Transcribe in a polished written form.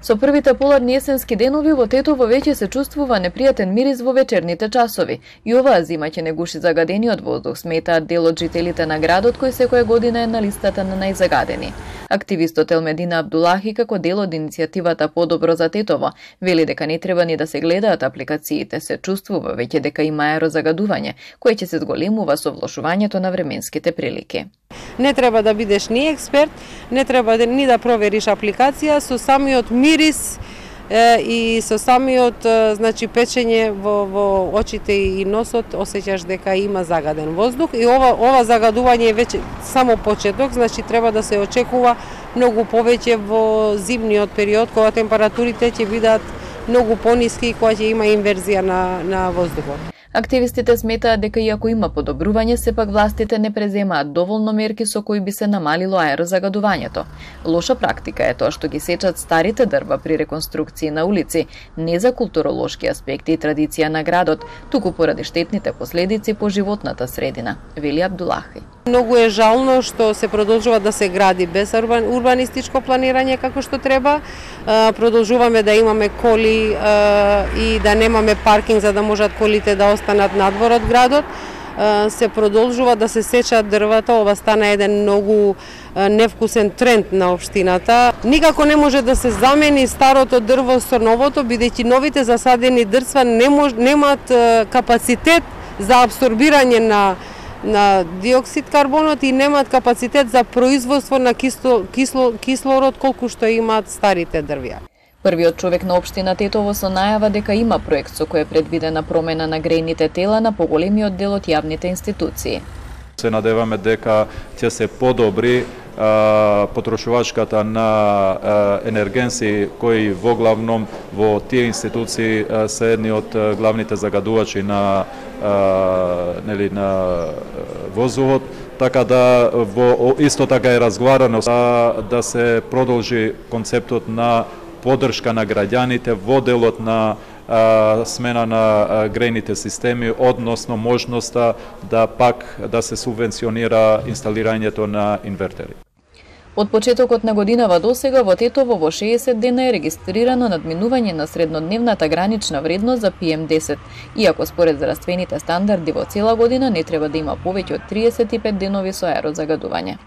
Со првите поладни есенски денови во Тетово веќе се чувствува непријатен мирис во вечерните часови. И оваа зима ќе не гуши загадениот воздух, сметаат дел од жителите на градот кој секоја година е на листата на најзагадени. Активистот Елмедина Абдулахи, како дел од иницијативата Подобро за Тетово, вели дека не треба ни да се гледаат апликациите, се чувствува веќе дека има аерозагадување, кое ќе се зголемува со влошувањето на временските прилики. Не треба да бидеш ни експерт, не треба ни да провериш апликација, со самиот мирис и со самиот печење во очите и носот осеќаш дека има загаден воздух и ова загадување е веќе само почеток, треба да се очекува многу повеќе во зимниот период кога температурите ќе бидат многу пониски и кога ќе има инверзија на воздухот. Активистите сметаат дека иако има подобрување, сепак властите не преземаат доволно мерки со кои би се намалило аерозагадувањето. Лоша практика е тоа што ги сечат старите дрва при реконструкции на улици, не за културолошки аспекти и традиција на градот, туку поради штетните последици по животната средина, вели Абдулахи. Многу е жално што се продолжува да се гради без урбанистичко планирање како што треба. Продолжуваме да имаме коли и да немаме паркинг за да можат колите да останат надвор од градот. Се продолжува да се сечат дрвата, ова стана еден многу невкусен тренд на општината. Никако не може да се замени старото дрво со новото, бидејќи новите засадени дрва немаат капацитет за апсорбирање на диоксид карбонот и немаат капацитет за производство на кислород колку што имаат старите дрвја. Првиот човек на општина Тетово со најава дека има проект со кој е предвидена промена на грејните тела на поголемиот дел од јавните институции. Се надеваме дека ќе се подобри потрошувачката на енергенси кои воглавном во тие институции се едни од главните загадувачи на воздухот, така да исто така е разговарано да се продолжи концептот на поддршка на граѓаните во делот на смена на грејните системи, односно можноста да се субвенционира инсталирањето на инвертери. Од почетокот на годинава досега во Тетово во 60 дена е регистрирано надминување на среднодневната гранична вредност за PM10, иако според здравствените стандарди во цела година не треба да има повеќе од 35 денови со аерозагадување.